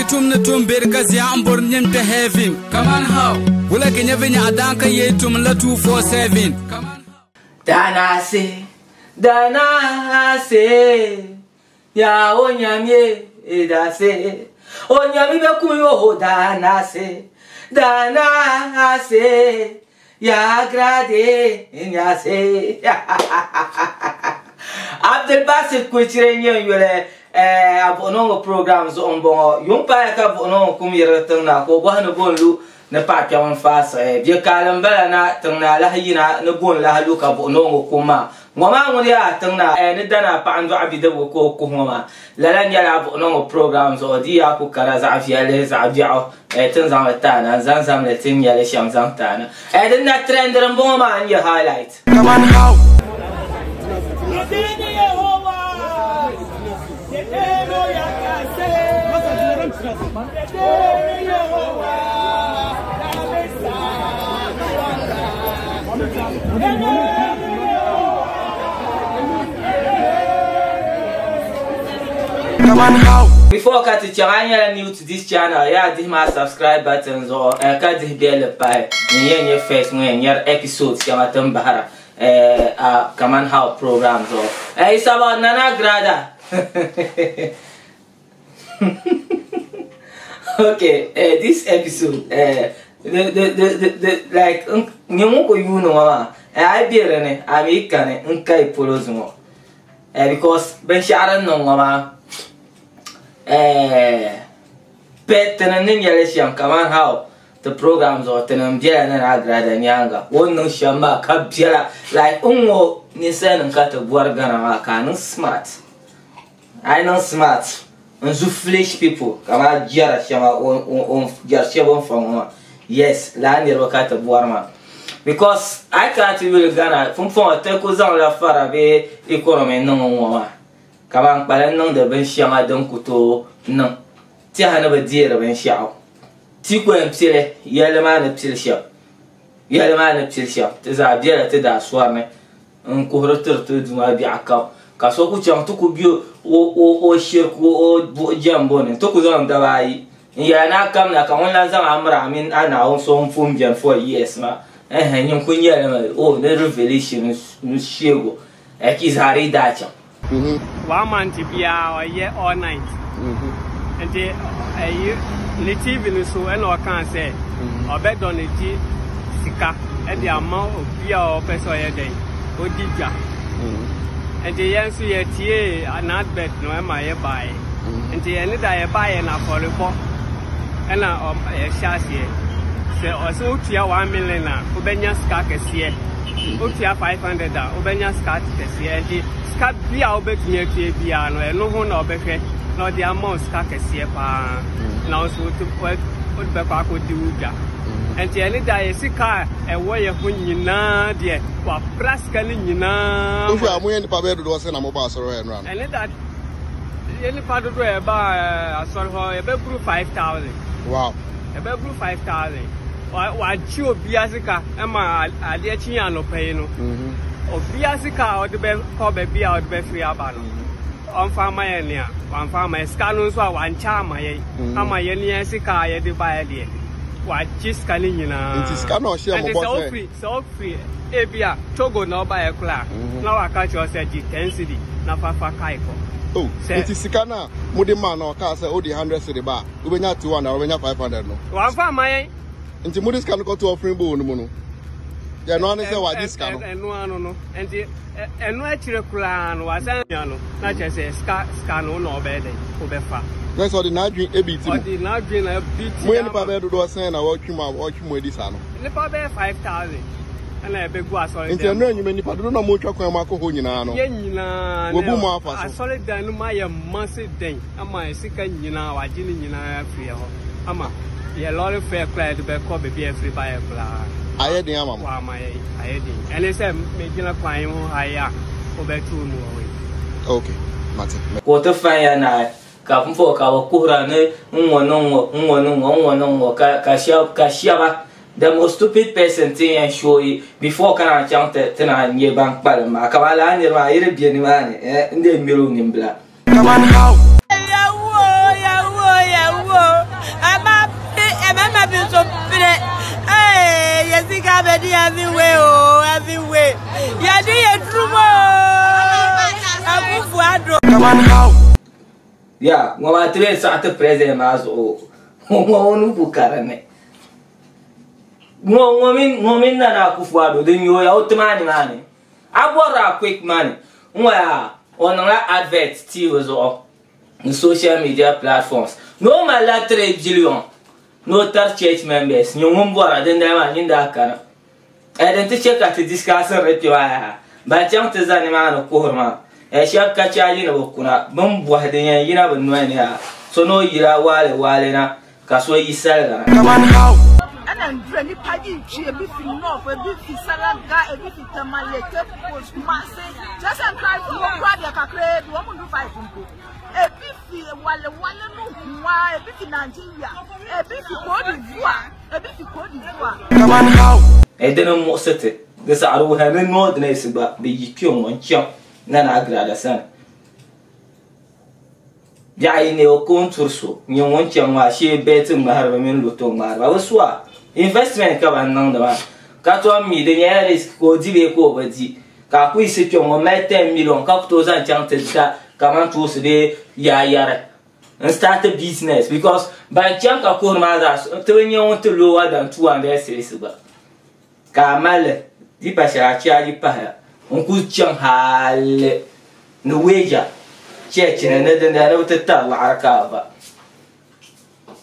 tum ni tum beri ka zia n bori nyin kpe heaven. Kaman how? Wula ka nya vinyɛɣu daan ka yee tum la 247. Kaman how? Danase, danase, ya onyamie dase, onyami be kum yo danase, danase, ya grade nyase. Abdul Basit Kuchire nyɛ n yuli a buɣinɔŋɔ program zuɣu n bɔŋɔ. Yuŋ paaya ka buɣinɔŋɔ kum yirigi tiŋ na ka o bɔhi ni bo n-lu ni paɣa kpɛm n faai siɣi. Bɛ kaali n bala na tiŋ na lahi yina ni bo n lahi lu ka buɣinɔŋɔ kum maa. Ŋɔ maa ŋuni yaa tiŋ na ni dana paɣa n dɔɣi bidibgu ka o kuhi ŋɔ maa. Lala nyɛla buɣinɔŋɔ program zuɣu di yaa ku kara zaɣ viɛlli zaɣ biɛɣu ti ni zaŋli ti a na n zaŋ zamli ti ni nyɛli shɛm zaŋ ti a na. Din na trendiri n bɔŋɔ maa n nyɛ highlight. Kaman how? Kaman how? Before ka ti chaŋ, a nyɛla new to this channel, yaa dihi maa subscribe button zuɣu ka dihi belli pahi n yɛn nyɛ first ŋun yɛn nyɛri episodes shɛŋa ti ni bahira a Kaman How program zuɣu. It's about Nana Agrada. Okay, this episode, the like, nyɛ ŋun ku yuuni ŋɔ maa, a yi be di ni, a mi kani n kayi polo zuŋɔ. Because binshɛɣu din niŋ ŋɔ maa, pɛ tini ni nyɛli shɛm kaman how ti program zuɣu tini n bela Nana Agrada nyaaŋa o ni niŋ shɛm maa ka bela like n ŋɔ ninsalinim ka ti bɔri Ghana maa ka a niŋ smart, a yi niŋ smart n zu foolish people kaman jɛra shɛŋa o jɛri shɛba o ni fa ŋɔ maa yes lala niriba ka ti bɔri maa. Because a yi kana ti yuli Ghana pumpɔŋɔ ti ku zaŋla fara bee economy niŋ n-ŋɔ maa ka ban kpalim niŋdi binshɛŋa din ku tooi niŋ tɛha ni bi deeri binshɛɣu. Ti ku yɛn pili yɛlli maa ni pili shɛm, yɛlli maa ni pili shɛm ti zaa bela ti daa sɔri ni n kuhiri tiri ti Duuma biɛɣu kam ka so ku chaŋ ti ku be o shiriku o buɣi jɛmbu ni nti ku zaŋ daba ayi n yɛla ni a kamina ka ŋun lan zaŋ a miri a mini a Naawuni so ŋun pun beni for years maa. Ɛhɛn, nyin ku nyɛ li mi, oh, ni revelation n sheego, ki zaa di daa chaŋ. One month biara ɔyɛ all night. Nti ɛyi ne TV no so ɛna ɔkaa sɛ ɔbɛ donate sika ɛde ama obi a ɔpɛ sɛ ɔyɛ dɛn odi dwa. Nti yɛn nso yɛtiee n'advert no ɛma yɛbaeɛ. Nti ɛne da yɛbaeɛ no afɔrebɔ ɛna yɛhyɛ aseɛ. Sɛ ɔsɛ wotua 1 million a wobɛnya sika kɛseɛ. Wotua 500 a wobɛnya sika kɛseɛ. Nti sika bi a wobɛtumi atua biara no ɛno ho na ɔbɛhwɛ na ɔde ama wo sika kɛseɛ paa. Na wo nso wode bɛkɔ akɔdi wo dwa. Nti ɛne da yɛ sika a ɛwɔ yɛ ho nyinaa deɛ wapra sika no nyinaa. Wohwɛ a moyɛ nnipa bɛyɛ dodoɔ sɛ na mobɔ asɔre hɔ ɛnora no? Ɛne da yɛ nipa dodoɔ a ɛba asɔre hɔ yɛbɛburu 5,000. Wow. Yɛbɛburu 5,000. Wagye obia sika ɛma adeɛ kye anɔpa yi no. Obia sika a ɔde bɛkɔ baabi a ɔde bɛfiri aba no. Ɔmfa ama yɛn nea wamfa ama yɛn. Sika no nso a wankyɛ ama yɛn. Ama yɛn ne yɛn sika a yɛde baeɛ deɛ. Wagye sika no nyinaa. Nti sika na ɔhyɛ mo bɔ sɛ. Sɛ ɔfiri ebi a Togo na ɔbaeɛ koraa na waka kyerɛ wo sɛ gye 10 cedi na fa fa kae kɔ. Oh, nti sika no a mode maa no ɔkaa sɛ wode 100 cedi ba a wobɛnya 200 wobɛnya 500 no. Wamfa amma yɛn. Nti mode sika no kɔto offering bowl no mu no, ɛno ara ne sɛ wagye sika no. Ɛno ano no, nti ɛno akyire koraa no wasan nya no na kyerɛ sɛ sika sika no na ɔbɛyɛ dɛn wobɛfa. Na sɛ ɔde n'adwene ebi ti mu. Ɔde n'adwene na ebi ti. Moyɛ nipa bɛyɛ dodoɔ sɛn na wɔtwe mu a wɔtwe mu adi saa no? Nipa bɛyɛ 5,000 ɛna ɛbɛgu asɔredan. Nti ɛno anwuma nipa dodoɔ na wɔtwa kwan mu akɔ hɔ nyinaa no. Yɛn nyinaa. Wɔbu mu afa so. Asɔredan no mu ayɛ ma se dɛn ama sika nyinaa wagye ne nyinaa afiri hɔ ama yɛ lɔre fɛ koraa yɛde bɛkɔ baabi a ɛfiri baeɛ koraa. Ayɛ den ama mo. Wama yɛ ayɛ den. Ɛne sɛ megyina kwan ho ha yi a wobɛto mu wɔ hɔ yi. Okay, mate. Ka o ti fan ya naai ka pumpɔŋɔ ka bɛ kuhira ni n-ŋɔ ni ŋ-ŋɔ n-ŋɔ ni ŋ-ŋɔ n-ŋɔ ni ŋ-ŋɔ ka ka shɛba ka shɛba the most stupid person ti yɛn show yi before ka naan chaŋ ti ti naan nyɛ ban kpalim maa kaman lala niriba maa yi di be nimaani eh n dee ŋmɛri o nimbila. Kaman how? Yawo, yawo, yawo. Kaman how? Ya, ŋɔ maa ti lee saɣi ti president maa zuɣu ŋɔ o ni ku ka dinni. Ŋɔ ŋɔ mini ŋɔ mini Nana Akufo-Addo din nyooya o tima nimaani. A bɔrila a quick money n-ŋɔ yaa o niŋla advert TV zuɣu ni social media platforms ni o malila 3 billion ni o tari church members nyɛ ŋun bɔra dindali maa nyin daa kana. Eh din ti che ka ti discussiri di kpe maa yaha. Ban chaŋ ti za nimaani kuhiri maa eh shɛba ka chaaji ni bɛ kuna bɛ ni bɔhi din yɛn yina bɛ noli ni yaha so ni o yila waale waale na ka so yi saliga na. Kaman how? Ɛna ndura nipa yi twi ebi fi north ebi fi salaga ebi fi tamale cape coast kumase kyerɛ sɛ nkranfo wɔ kura deɛ kakraa bi wɔn ndu five mpo ebi fi wale wale no hoa ebi fi nigeria ebi fi cote d'ivoire ebi fi cote d'ivoire. Kaman how? Eh dini m-muɣisi ti di saɣiri wuhiya ni Northerners gba bɛ yi kpe ŋ-ŋɔ n-chaŋ Nana Agrada sani. Biɛɣu yi neei o ka o ni turi so nyɛ ŋun chaŋ maa shee bɛɛti ŋmahiriba mini loto ŋmahiriba bi su a. Investment ka ban niŋdi maa. Ka tom mi di nyɛla risk ka o di bee ka o bi di. Ka a ku yiɣisi kpe ŋɔ mali 10 million ka ku tooi zaŋ chaŋ ti da kamantoosi bee yaayari n start business because ban chaŋ ka kuhiri maa zaa ti bi nya ŋun ti lower than 200 cedis gba. Ka a mali li di pa shɛli a chaaji pahiya n ku chaŋ hali ni weeja chɛchi ni ni dindali ni bi ti tari laɣiri ka a va.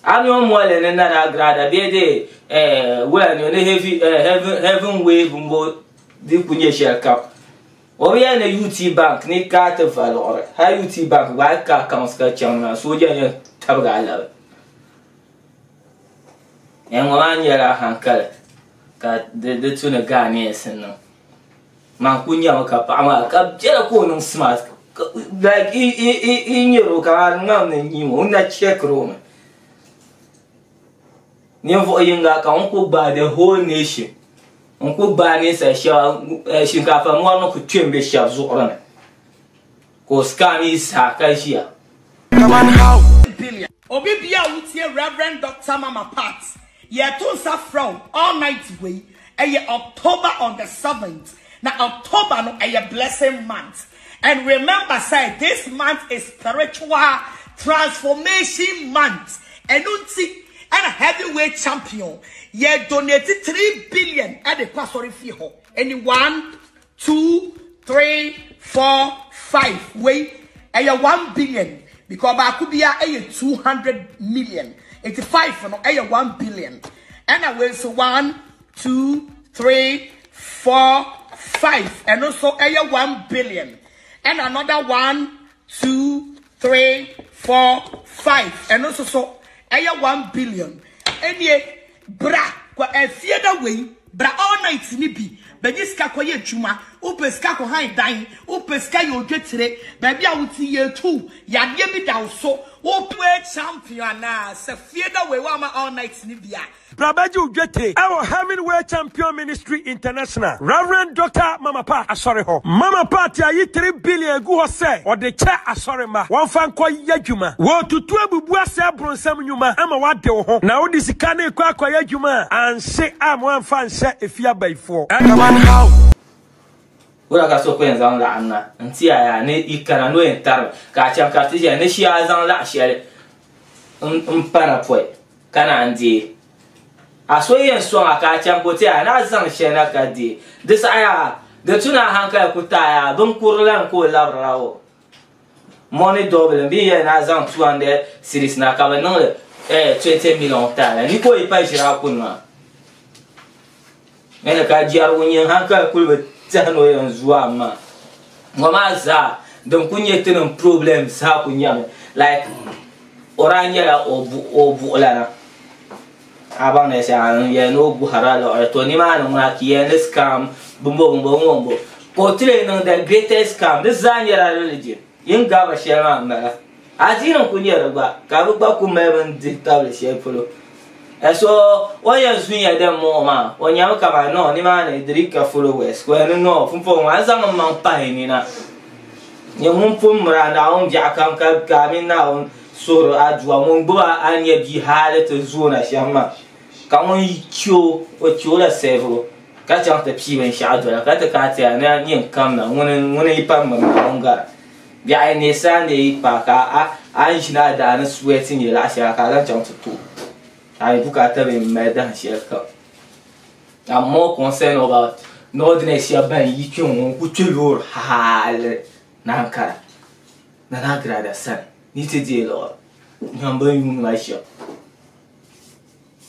A mi o moli ni Nana Agrada bee di wula ni ni heaven wave m-bo di ku nyɛ shɛli kam. O bi yɛli ni UT Bank ni ka a ti va liɣiri hali UT Bank gba a yi ka accounts ka chaŋ ni maa sooja yɛn tabigi a labi. Ŋɔ maa nyɛla hankali ka di tu ni Ghanaians niŋ. Man ku nyami ka paɣa maa ka biɛla ka o niŋ smart like i nyɛri o kamani ŋmaŋ ni nyim o o na chɛkiri o mi. Ninvuɣu yinga ka ŋun ku gbaai the whole nation n ku gbaai ninsal shɛba shinkaafa mɔri ni ku kpe m-be shɛba zuɣuri ni ka o scam yi zaa ka ʒiya. Kaman how? Obi bia a wotie Rev. Doctor Mama Pat, yɛto nsa frɛ wo all night wei, ɛyɛ October on the seventh, na October no ɛyɛ blessing month, and remember sɛ this month is spiritual transformation month, ɛno nti ɛna heavyweight champion yɛ donate three billion ɛde kɔ asɔre fie hɔ, ɛni one Two, three, four, five. Wei ɛyɛ one billion because baako biara ɛyɛ 200 million. Eti five no ɛyɛ 1 billion. Ɛna wei nso one, two, three, four, five. Ɛno nso ɛyɛ 1 billion. Ɛna another one, two, three, four, five. Ɛno nso so ɛyɛ 1 billion. Ɛnie bra kɔ ɛfie da wei bra all night ni bi bɛgye sika kɔyɛ adwuma. Wopɛ sika kɔ han dan, wopɛ sika yɛ odwetire, baabi a wote yɛ tu yadeɛ bi da wo so, wopɛ champion anaa sɛ fie da wei woama all night ni bi a Brabagye odwetire ɛwɔ Heaven Way Champion Ministry International, Reverend Dr. Mama Pat asɔre hɔ. Mama Pat ayi 3 billion egu hɔ sɛ ɔde kyɛ asɔre mma wɔmfa nkɔ yɛ adwuma. Wɔtutu abubu asɛ abronsam nnwuma ama wade wo ho na wode sika ne kɔ akɔyɛ adwuma a anhye a mo amfa nhyɛ efi abayifoɔ. Kaman how? Wula ka so ku yɛn zaŋ laɣim na n-ti a yaa ni yi kana ni o yɛn tarimi ka a chaŋ ka ti ʒiya ni shee a zaŋ laɣ shɛli m pa na pɔi ka naan deei. A so yɛn sɔŋ a ka a chaŋ ka o ti a ni a zaŋ shɛli na ka deei. Di saha yaa di tu ni a hankali ku ti a yaa binkurili lan ka o labirila o. Money doubling bɛ yɛli ni a zaŋ 200 cedis na ka bɛ niŋ li 20 million ti a la ni ka o yi pa ʒiri a kuni maa. Ɛni ka jɛrigu nyɛ hankali kuli bi tɛhi ni o yɛn zuwa a maa. Ŋɔ maa zaa din ku nyɛ tinim problem zaa ku nyɛmi like o daa nyɛla o buɣulana. A baŋ ni shɛŋa n yɛli ni o guhirila liɣiri to nimaani ŋuna ka yɛli ni scam bimbo bimbo ŋɔ m-bo ka o ti lee niŋ the greatest scam di zaa nyɛla religion yin gabiri shɛli maa m-bala. Adiini n-ku nyɛ di gba ka bɛ gba ku mali bini dihi tabili shɛli polo. So o yɛn zunya din mɔɣu maa o nyami kamani no nimaani di ka followers ka o yɛli ni no pumpɔŋɔ maa n zaŋ n maŋ pahi nina nyɛ ŋun pun miri a Naawuni biɛɣu kam ka a mini Naawuni suhuri adua ŋun gbubi a a ni nyɛ bia hali ti zoona shɛm maa ka ŋun che o o che o la sɛvigu ka chaŋ ti pii binshɛɣu dola ka ti ka a ti a ni nyin kamna ŋuni yi pa miri Naawuni gara. Biɛɣu ni Sunday yi paai ka a a ni ʒini a daa ni sweat nyɛ laɣa shɛŋa ka a zaŋ chaŋ ti to a yi bukaata bee m-mali dahin shɛli kam. I'm more concerned about Northerners shɛba ban yi kpe ŋɔ n-ku kpe loori hali ni Ankara Nana Agrada sani ni ti deei liɣiri nyam bɛ ni yuuni ma shɛm.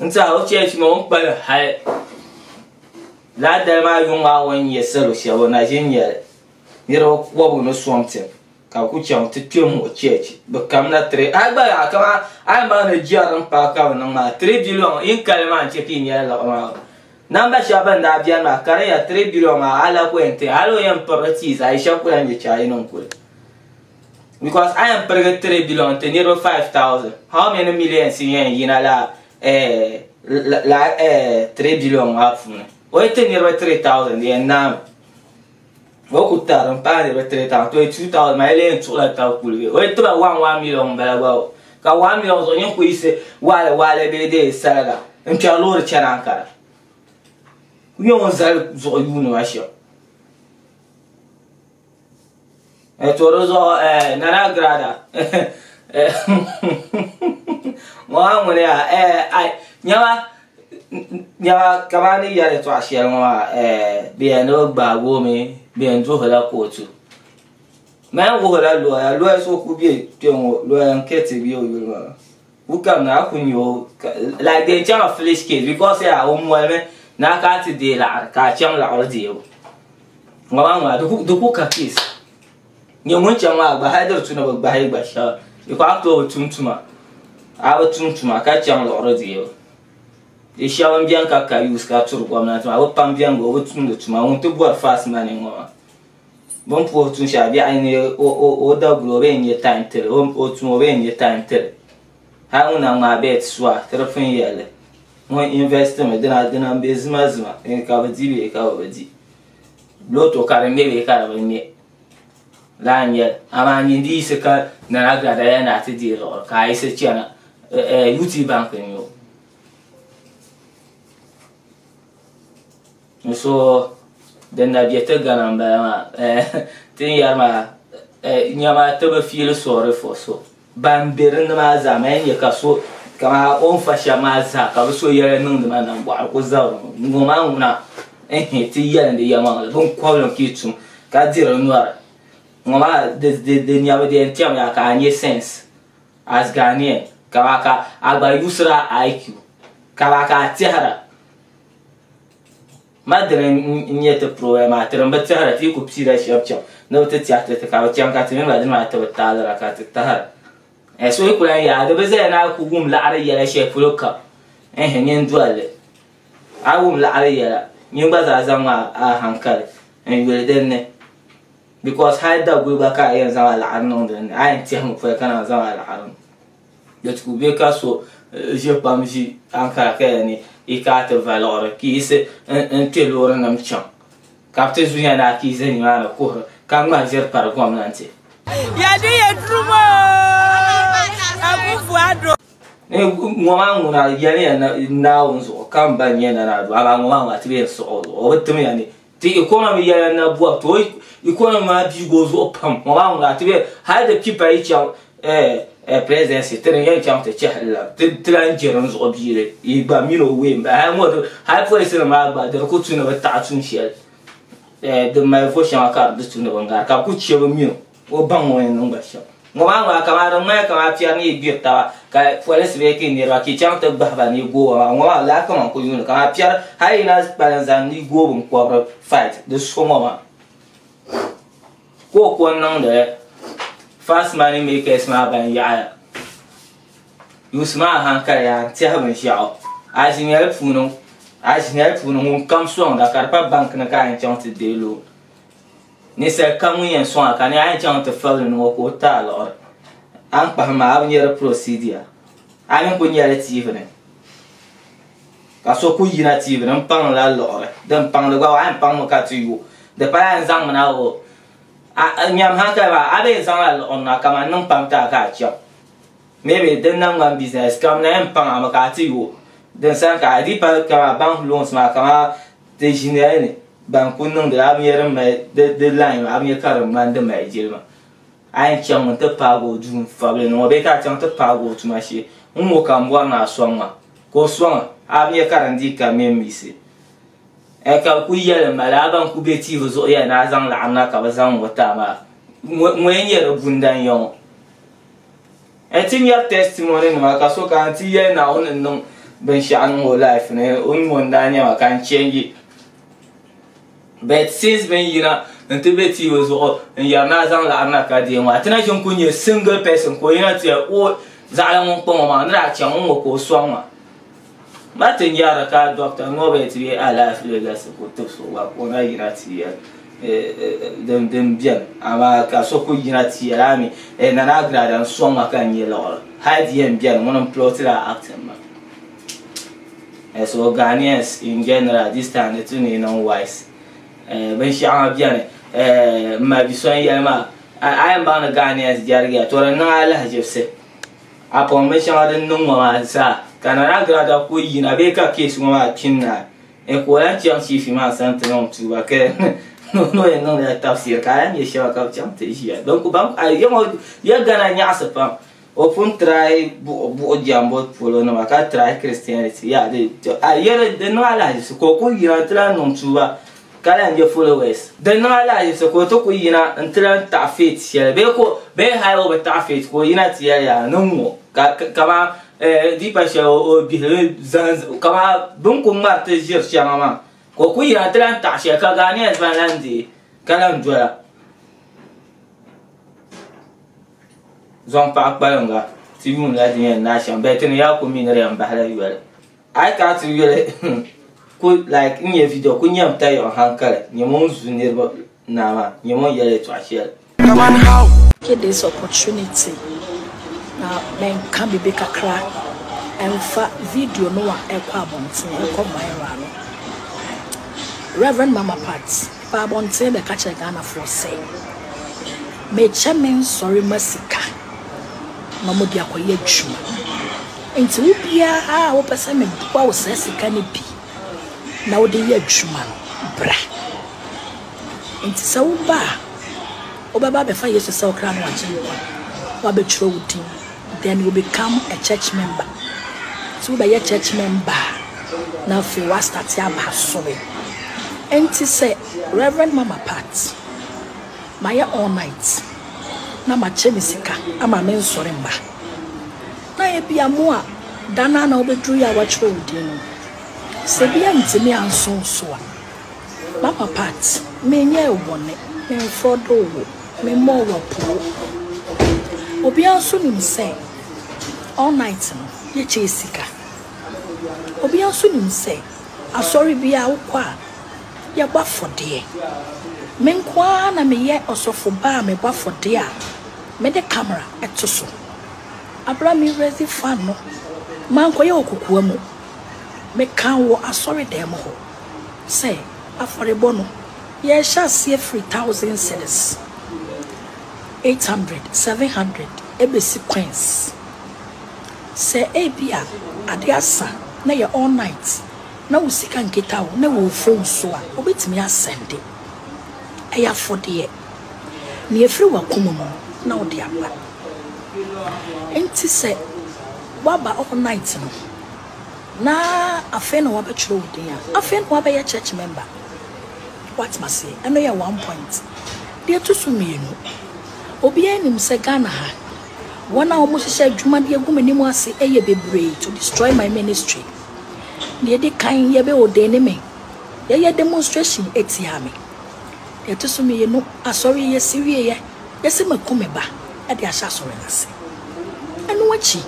N tiɛha o cheechi maa o ni kpalim hali lala dali maa yuŋ maa o ni nya salo shɛba o na ʒi n-nya li. Niriba kɔbigu ni sɔŋ tim ka bɛ ku chaŋ ti kpe m-muɣi cheechi. Bɛ kamina tiri hali gba yaa kaman a yi baŋ ni jɛri m-paai ka bɛ niŋ maa 3 billion yi kali maa n-chɛ ka yi nyɛla liɣiri maa. Namba shɛba ban daa beni maa ka di nya 3 billion maa a la ku yɛn ti hali o yɛn pirigi tii zaa yi shɛba ku lahi nyɛ chaai niŋ kuli. Because a yɛn pirigi 3 billion ti niriba 5000 how many millions n yɛn yina la eh, la eh, 3 billion maa puuni o yi ti niriba 3000 di yɛn naami o ku tari n paai niriba 3000 to 2000 maa yi lee yɛn tuɣila tabi kuli bee o yi tiba 1 1 million n bala gba o ka 1 million zuɣu nyin ku yiɣisi waale waale bee dee saliga n kpɛri loori chani Ankara ku nyɛ ŋun zali zuɣu yuuni ma shɛm. To di zuɣu Nana Agrada ŋɔ maa ŋuni yaa nyama nyama kamani ni yɛri yɛltɔɣa shɛli ŋɔ maa bɛ yɛn ni bi gbaagi o mi bɛ yɛn duhila kootu man wuhila looya looya so ku bɛ kpɛ ŋɔ looya n kɛti bɛ o yuli maa ku kamina a ku nyɛ o like din chaŋ foolish case because yaa o molimi ni a kana ti deei laɣiri ka a chaŋ laɣiri deebu ŋɔ maa ŋuna di ku ka case nyɛ ŋun chaŋ maa gba hali di tu ni bi gbahi gba shɛba because a ku tooi bi tum tuma a bi tum tuma ka chaŋ liɣiri deebu di shɛba n biɛni ka ka use ka turi gomnanti maa bi pam biɛni gba o bi tumdi tuma ŋun ti bɔri fast money ŋɔ maa Bɛ ni puhi tuun shɛli biɛɣu ni o daguli o bee n-nyɛ time tiri o tum o bee n-nyɛ time tiri hali ŋun na ŋmaai bet suwa ti di pun yɛlli ŋun invest mi dina dina m-be zima zima ka bɛ di bee ka bɛ bi di lotto ka di ŋme bee ka di bi ŋme lala n-nyɛ li amaa nyin di yiɣisi ka Nana Agrada yɛli ni a ti deei liɣiri ka a yiɣisi chana UT Bank n-nyɛ o. N so din na bɛ ti Ghana n bala maa ti ni yɛri maa nyama ti bi feel sorry for so ban bɛ dinni maa zaa man nyɛ ka so kamani o ni fa shɛba maa zaa ka bi so yɛla niŋdi ma nambɔɣu ku zabiri ŋɔ maa ŋuna ti yɛlindi yɛlimaŋli bin kɔbili n kii tum ka diri nyɔri ŋɔ maa di nyabu di yɛn tɛmiya ka a nyɛ sense as Ghanaian ka a gba yusira IQ ka a tɛhira Ma dini n-nyɛ ti problem maa, ti din bi tɛhira, ti yi ku piila shɛba chaŋ ni bɛ ti tɛhi ti ti ka bɛ chaŋ ka ti mini ba dini maa ti bi taalira ka ti tahira. Eh, so yi ku lahi yaai, di bi zaya ni a ku wum laɣiri yɛla shɛli polo kam, ɛɛh, nyin doli li. A wum laɣiri yɛla, nyin gba zaa zaŋmi a hankali n-yuli din ni because hali daguli gba ka a yɛn zaŋ a laɣiri niŋ din ni, a yɛn tɛhimi pɔi ka naan zaŋ a laɣiri niŋ. Di ku be ka so ʒe kpam ʒi Ankara ka yɛli ni yi kana ti va liɣiri ka yiɣisi n-kpe loorinima chaŋ ka bɛ ti zuya ni a ka yi ʒe nimaani kuhiri ka ŋmahi ʒiri pari gomnanti. Yɛde yɛ duro Akufo Addo. Ŋɔ maa ŋuna yɛliya Naawuni zuɣu ka m ba nyɛ Nana Addo amaa ŋɔ maa ŋuna ti bi yɛn sɔɣi o zuɣu o bi timya ni ti economy yɛla na bɔbi to economy maa biigi o zuɣu pam ŋɔ maa ŋuna ti be hali di pipa yi chaŋ presidency ti ni yɛn chaŋ ti chɛhili la ti lan je din zuɣu biili yi gba mini o wee m-bala hali ŋɔ hali polisi nim maa gba di di ku tu ni bi taɣi tuun shɛli din mali vo shɛŋa ka di tu ni bi ŋari ka bi ku chɛ bi mini o baŋ o ni niŋ ba shɛm. Ŋɔ maa ŋuna kamani di ŋmanila kamani piɛri ni yi gbiri taba ka polisi bee ka niriba ka yi chaŋ ti gbahi ba ni yi gooi ba maa ŋɔ maa lala kaman ku yuuni kamani piɛri hali yi na kpalim zaŋ ni yi gooi binkɔbiri fight di so ŋɔ maa ka o ko n-niŋdi li fast money makers maa ban yaɣiya yuusi maa hankali yaa n-tɛhi binshɛɣu a ʒinɛli puuni a ʒinɛli puuni ŋun kam sɔŋda ka di pa bank ni ka a yɛn chaŋ ti deei loan. Ninsal kam ŋun yɛn sɔŋ a ka ni a yɛn chaŋ ti fabili ni ŋɔ ka o ti a liɣiri, a ni kpahim maa a bi nya di procedure. A mi ku nyɛli TV ni ka so ku yina TV ni m-paŋ la liɣiri. Din paŋdi gba a yɛn paŋmi ka ti yo. Di pala a yɛn zaŋmi na o a nyam hankali maa a bee zaŋla liɣiri na kaman niŋ pam ti a ka a chaŋ. Maybe din na ŋmani business kam na yɛn paŋ a mi ka a ti yo. Din sani ka a di pa kaman bank loans maa kaman ti ʒinɛli ni ban ku niŋdi a bi nya din mali di line maa a bi nya ka di ŋmani di mali jilima. A yɛn chaŋmi nti paagi o duu n-fabili niŋ o bee ka a chaŋ ti paagi o tuma shee n-ŋɔ ka m bɔri ni a sɔŋ ma ka o sɔŋ a, a bi nya ka din dii ka mɛ m-misi. Ɛ ka bɛ kul yɛli m ma lala ban kul be TV zuɣu yɛli ni a zaŋ laɣim na ka bɛ zaŋ ŋɔ ti a maa, ŋɔ n-nyɛ di bundan ya ŋɔ. Ɛ ti nyari testimony nima ka so kana ti yɛli Naawuni ni niŋ binshɛɣu niŋ o life ni o ni ŋɔ n-daa nya ma ka n change. But since bɛ ni yina n-ti be TV zuɣu n-yɛri ni a zaŋ laɣiri na ka deei ŋɔ a ti na ʒini kuli nyɛ single person ka o yina ti yɛli o zaɣila ŋun kpa ŋɔ maa ni daa chaŋ n-ŋɔ ka o sɔŋ ma. Ma ti nyari ka Doctor Norbert bee alaafee galisi ka o tibisi o gba ka o na yina ti yɛli din beni amaa ka so kuli yina ti yɛli a mi Nana Agrada n-sɔŋ ma ka n nya liɣiri hali di yɛn beni ŋuni m-plotila acting maa. So Ghanaians in general this time di tu ni yi niŋ wise. Binshɛɣu ŋa beni m ma bi so n-yɛli maa a yɛn baŋ ni Ghanaians jɛrigiya to di niŋ a lahiʒibisi a pɔŋ binshɛŋa din niŋ ŋɔ maa zaa ka Nana Agrada ku yina bee ka case ŋɔ maa kpini naai ka o lahi chaŋ chief maa sani ti niŋ tuuba ka ni o yɛn niŋdila tafsir ka a lahi nya shɛba ka bɛ chaŋ ti ʒiya ya Ghana nyaɣisi pam. O pun try buɣu jɛmbu polo nima ka try Christianity ya di a yɛli di niŋ alahiʒibisi ka o kuli yina n-ti lahi niŋ tuuba ka lahi nya followers. Di niŋ alahiʒibisi ka o ti kuli yina n-ti lahi taɣi faith shɛli bee ka bee hali o bi taɣi faith ka o yina ti yɛli yaa ni ŋ-ŋɔ ka kaman di pa shɛli o bihili zaŋ kaman bɛ ni kuli ŋmari ti ʒiri shɛŋa maa ka o kuli yina n-ti lahi taɣi shɛli ka Ghanaians ban lahi deei ka lahi dola. Zaŋ paɣa kpalimga ti yuun la din yɛn naai shɛm bee ti ni yaa ku mi ni di yɛn bahila yoli. A yi kana ti yuli ku like n nyɛ video ku nyɛm tayiɣi hankali nyɛm o ni zu niriba naa maa nyɛm o ni yɛli yɛltɔɣa shɛli. Take this opportunity na menka biribi kakra ɛmfa video no a ɛkɔ abɔnten ɛkɔ viral no. Rev. Mama Pat baa abɔnten bɛka kyerɛ Ghanafoɔ sɛ. Mekyɛ me nsɔre ma sika na wɔde akɔyɛ adwuma. Nti wo biara a wopɛ sɛ meboa wo saa sika no bi na wode yɛ adwuma no, bra. Nti sɛ woba a, wobɛba abɛfa Yesu sɛ wo kra ne w'agyenkwa, woabɛtwerɛ wo din, then you become a church member. Nti wobɛyɛ church member a, na afei woastarte aba asɔre. Nti sɛ Rev. Mama Pat. Mayɛ all night na makyɛ me sika ama me nsɔre mma. Na ebia mo a da no ara na wobɛduru yɛ a wɔatwerɛ wo din no, sɛ bi antumi anso wo so a, Mama Pat, menyɛɛ wo bɔne, memfrɔdoo wo, memmɔɔ wo apoo. Obiara nso nim sɛ all night no yɛkyɛɛ sika. Obiara nso nim sɛ asɔre biara wokɔ a, Yɛbɔ afɔdeɛ. Me nko ara na meyɛ ɔsɔfo ba a mebɔ afɔdeɛ a mede camera to so. Aberɛ a me raise fund no, mankɔyɛ wɔ kokoa mu. Mekaa wɔ asɔredan mu hɔ sɛ afɔrebɔ no, yɛrehyɛ aseɛ firi thousand cedis, 800, 700 ɛbɛsi coins. Sɛ ebia adeɛ asa na ɛyɛ all night na wo sika nkita wo na ɛwɔ wo phone so a, wobɛtumi asɛnde. Ɛyɛ afɔdeɛ. Nea ɛfiri w'akoma mu no na wode aba. Nti sɛ woaba all night no na afei na wabɛtwerɛ wo din a, afei na wabɛyɛ church member. Woate aseɛ? Ɛno yɛ one point. Deɛ ɛto so mmienu, obiara nim sɛ Ghana ha, wɔn a wɔhyehyɛ adwuma de agu m'anim ase yɛ bebree to destroy my ministry. Deɛ ɛdi kan, yɛbɛ ordaine me. Yɛyɛ demonstration tiaa me. Deɛ ɛto so mmienu, asɔre yi yɛsi wieɛ, yɛsi maku me ba de ahyɛ asɔre no ase. Ɛno akyi,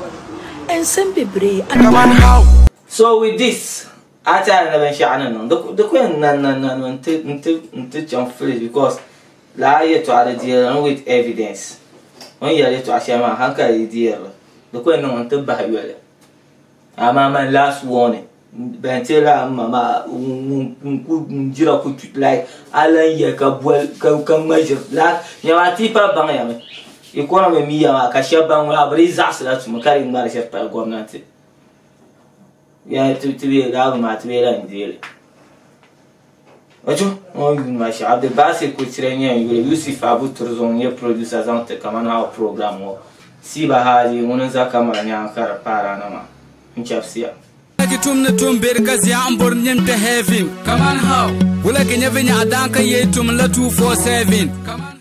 nsɛm bebree aba. So with this, a tɛha ni binshɛɣu ni niŋ, di ku yɛn nan nan nan mi nti chaŋ fridge because lala yɛltɔɣa di deeri mi with evidence. O ni yɛli yɛltɔɣa shɛli maa hankali yi deeri li, di ku yɛn niŋ mi nti bahi yoli. Amaa man last warning ban ti la m ma maa ŋun ku jira ku tu like a lan yɛli ka boli ka ŋma ʒiri like nyama ti pa baŋ ya mi economy mi ya maa ka shɛba ban ŋuna bi dii zaɣasila tuma ka dii ŋmari ʒiri pali gomnanti ya ti ti bee laabu maa ti bee lan deeli. Ocho ŋɔ yuun ma shɛm Abdulbasir Kuchire nyɛ n yuli Yusuf Abu Turzong nyɛ producer zaŋ ti Kaman How program ŋɔ Siba Hadi ŋuni n za kamara nyaŋa ka di paara na maa n chɛbisiya. Ki tum ni tum beri ka zia n bori nyɛ n kpɛ heaven. Kaman how? Wula ki nyɛ vinyɛɣu daan ka yee tum la 247.